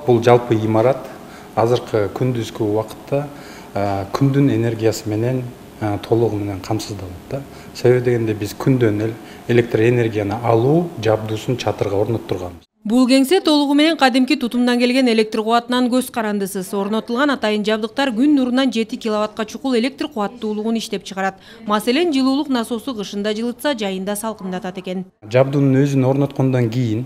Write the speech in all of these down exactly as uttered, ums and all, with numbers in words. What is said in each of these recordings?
Бул жалпы имарат азыркы күндүзгү убакытта күндүн энергиясы менен толугу менен камсыздалат да. Себеби дегенде биз күндөн электр энергияны алуу жабдуусун чатырга орноттурганбыз. Бул кеңсе толугу менен кадимки тутумдан келген электр кубатынан көз карандысыз. Орнотулган атайын жабдыктар күн нурунан жети киловаттка чукул электр кубаттуулугун иштеп чыгарат. Маселен, жылуулук насосу кышында жылытса, жайында салкындатат экен. Жабдуунун өзүн орноткондон кийин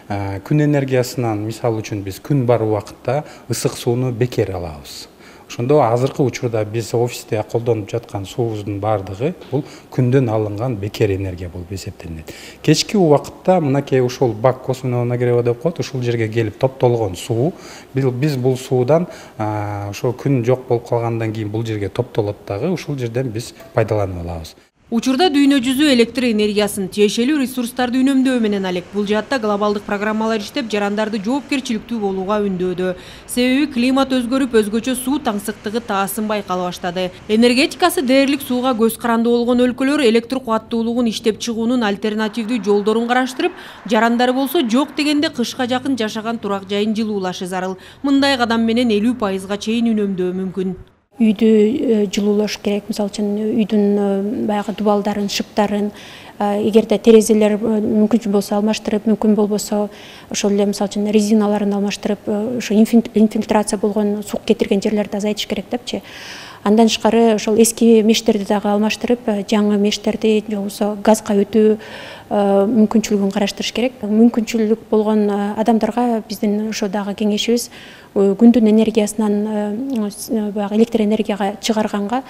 күн энергиясынан, мисалы үчүн биз күн бар убакытта ысык сууну бекер алабыз. Ошондо азыркы учурда биз офисте колдонуп жаткан суубуздун баардыгы бул күндөн алынган бекер энергия болуп эсептелинет. Кечки убакытта мынакей ушул бак косвенного нагрева деп коет, ушул жерге келип топтолгон суу, биз бул суудан ошо күн жок болуп калгандан кийин бул жерге топтолот дагы, ушул жерден биз пайдаланып алабыз. Учурда дүйнө жүзү электр энергиясын тиешелүү ресурстарды үнөмдөө менен алек. Бул жаатта глобалдык программалар иштеп, жарандарды жоопкерчиликтүү болууга үндөөдө. Себеби климат өзгөрүп, өзгөчө суу таңсыктыгы таасын байкала баштады. Энергетикасы дээрлик сууга көз каранды болгон өлкөлөр электр кубаттуулугун иштеп чыгуунун альтернативдүү жолдорун караштырып, жарандары болсо жок дегенде кышка жакын жашаган турак жайын жылуулашы зарыл. Мындай кадам менен элүү пайызга чейин үнөмдөө мүмкүн. Үйдү жылуулаш керек. Мисалы үчүн үйдүн баягы дубалдарын, шыптарын, эгерде терезелер мүмкүн болсо алмаштырып, мүмкүн болбосо ошол эле мисалы үчүн резиналарын алмаштырып, ошо инфильтрация болгон сук кетирген жерлерди азайтыш керек депчи. Андан тышкары ошол эски мештерди дагы алмаштырып, жаңы мештерди же болбосо газга өтүү мүмкүнчүлүгүн караштырыш керек. Мүмкүнчүлүк болгон адамдарга биздин ошо дагы кеңешибиз күндүн энергиясынан баягы электр энергияга чыгарганга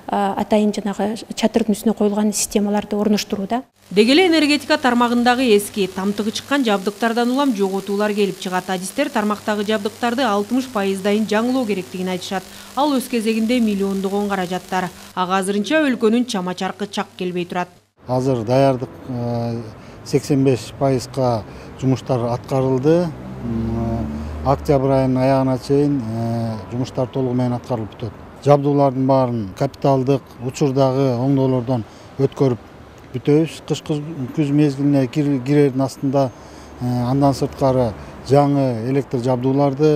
атайын жанагы чатырдын үстүнө коюлган системаларды орноштурууда. Деги эле энергетика тармагындагы эски, тамтыгы чыккан жабдыктардан улам жоготуулар келип чыгат. Адистер тармактагы жабдыктарды алтымыш пайыздайын жаңылоо керектигин айтышат. Ал өз кезегинде миллиондогон каражаттар. Ага азырынча өлкөнүн чама чаркы чак келбей турат. Азыр даярдык сексен беш пайызга жумуштар аткарылды. Октябрь айынын аягына чейин жумуштар толугу менен аткарылып бүтөт. Жабдуулардын баарын капиталдык учурдагы оңдоолордон өткөрүп бүтөбүз. Кышкы күз мезгилине кирердин астында андан сырткары жаңы электр жабдууларды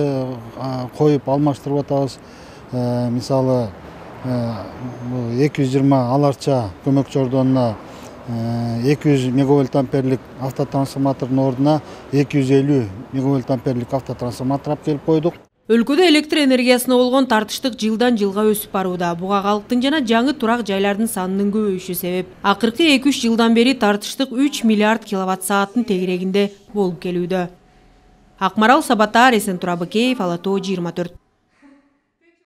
коюп алмаштырып атабыз. Мисалы эки жүз жыйырма аларча көмөкчү ордонуна эки жүз мегавольт амперлик автотрансформатордун ордуна эки жүз элүү мегавольт амперлик автотрансформатор алып келип койдук. Өлкөдө электр энергиясына болгон тартыштык жылдан жылга өсүп барууда. Буга калктын жана жаңы турак жайлардын санынын көбөйүшү себеп. Акыркы эки үч жылдан бери тартыштык үч миллиард киловатт сааттын тегерегинде болуп келүүдө. Акмарал Сабатар, Эсентура Бакеев, Ала Тоо жыйырма төрт.